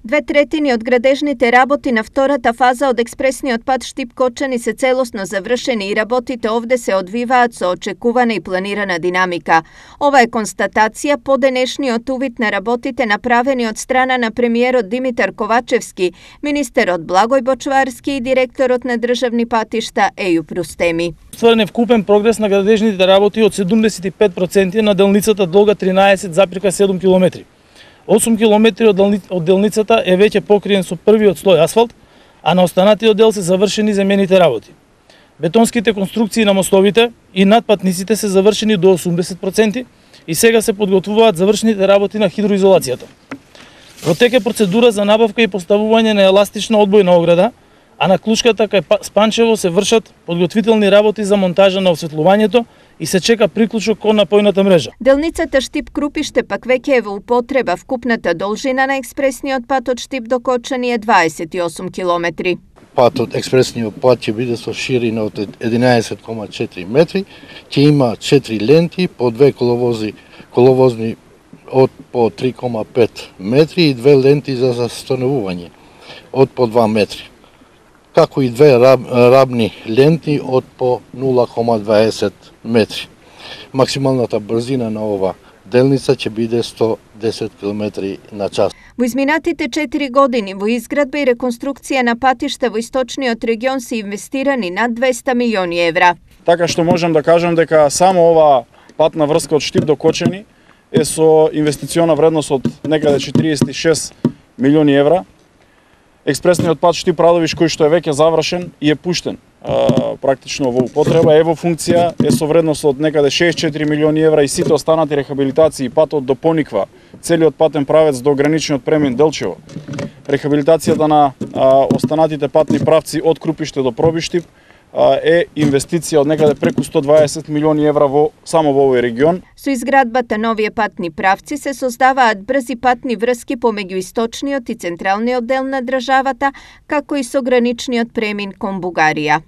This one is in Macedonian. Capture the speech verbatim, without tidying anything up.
Две третини од градежните работи на втората фаза од експресниот пат Штип-Кочани се целосно завршени и работите овде се одвиваат со очекувана и планирана динамика. Ова е констатација по денешниот увид на работите направени од страна на премиерот Димитар Ковачевски, министерот Благој Бочварски и директорот на државни патишта Ејуп Рустеми. Стварен е вкупен прогрес на градежните работи од седумдесет и пет проценти на делницата долга тринаесет запирка седум километри. осум километри од делницата е веќе покриен со првиот слој асфалт, а на останатиот дел се завршени замените работи. Бетонските конструкции на мостовите и надпатниците се завршени до осумдесет проценти и сега се подготвуваат завршените работи на хидроизолацијата. Протек е процедура за набавка и поставување на еластична одбојна ограда, а на клучката кај Спанчево се вршат подготвителни работи за монтажа на осветлувањето и се чека приклучок кон напојната мрежа. Делницата Штип-Крупиште пак веќе е во употреба. Вкупната должина на експресниот пат од Штип до Кочани е дваесет и осум километри. Патот, експресниот пат ќе биде со ширина од единаесет кома четири метри, ќе има четири ленти по две коловози, коловозни од по три кома пет метри и две ленти за застанување од по два метри, како и две раб, рабни ленти од по нула кома дваесет метри. Максималната брзина на ова делница ќе биде сто десет километри на час. Во изминатите четири години во изградба и реконструкција на патишта во источниот регион се инвестирани над двесте милиони евра. Така што можам да кажам дека само ова патна врска од Штип до Кочани е со инвестициона вредност од некаде четириесет и шест милиони евра. Експресниот пат Штип-Радовиш, кој што е веќе завршен и е пуштен а, практично во употреба, е во функција, е со вредност од некаде шеесет и четири милиони евра и сите останати рехабилитации, патот до Пониква, целиот патен правец до граничниот премин Делчево, рехабилитацијата на а, останатите патни правци од Крупиште до Пробиштип, е инвестиција од некаде преку сто дваесет милиони евра во само во овој регион. Со изградбата нови патни правци се создаваат брзи патни врски помеѓу источниот и централниот дел на државата, како и со граничниот премин кон Бугарија.